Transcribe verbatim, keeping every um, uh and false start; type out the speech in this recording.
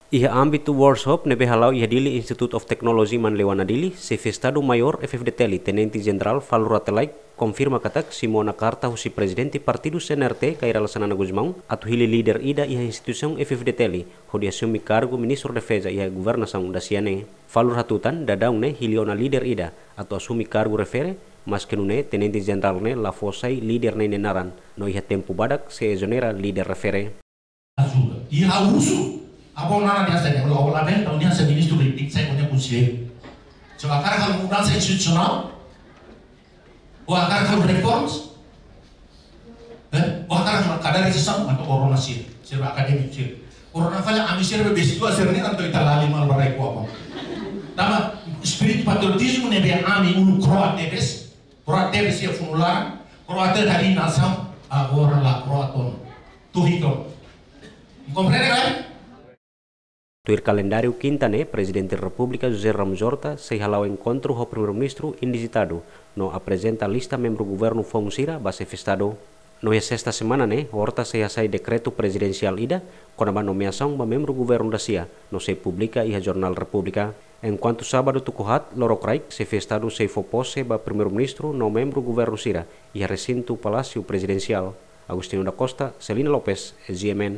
Iha ámbitu workshop ne'ebé hala'o iha Dili Institute of Technology Manleuana Dili, Xefe Estadu Maiór F-FDTL, Tenente Jenerál Falur Rate Laek, konfirma katak simu ona karta husi Prezidente Partidu C N R T, Kay Rala Xanana Gusmão, atu hili líder ida iha instituisaun F-FDTL, hodi asume kargu Ministru Defeza iha governasaun dasia ne'e. Falur hatutan, daudaun ne'e hili ona líder ida atu asume kargu refere, maske nune'e Tenente Jenerál ne'e la fó sai líder ne'e nia naran, no iha tempu badak sei ezonera líder refere. Ajuda. I ha'u husu, abo nana dia saya, kalau awal aben, tahun dia saya ministru politik, saya punya kunci. Sebab hakarak halo mudansa institusionál, ou hakarak halo reformas, eh, ou hakarak halo kaderisasi, entaun korona sira, sira akadémiku sira. Korona fala, ami sira be besi dua sira ne'e, entaun ita lali malu ba rai kuapo. Tanba, espíritu patriotizmu ne'ebé ami uluk kro'at tebes, kro'at tebes iha funu laran, kro'at tebes iha nasaun, agora la kro'at ona. Tuh ikon. Komprende, kan? Tuir kalendáriu kinta ne'e, Prezidente Repúblika José Ramos Horta sei hala'o enkontru ho Primeiru-Ministru indizitadu, no aprezenta lista membru governu foun sira ba Xefe Estadu. No iha sesta semana ne'e, Horta sei hasai dekretu prezidensiál ida kona-ba nomeasaun ba membru governu dasia, no sei publika iha Jornál Repúblika. Enkuantu sábadu tuku haat, lorokraik, Xefe Estadu sei fó pose ba Primeiru-Ministru no membru governu sira iha resintu Palásiu Prezidensiál. Agostinho da Costa, Celina Lopes, G M N.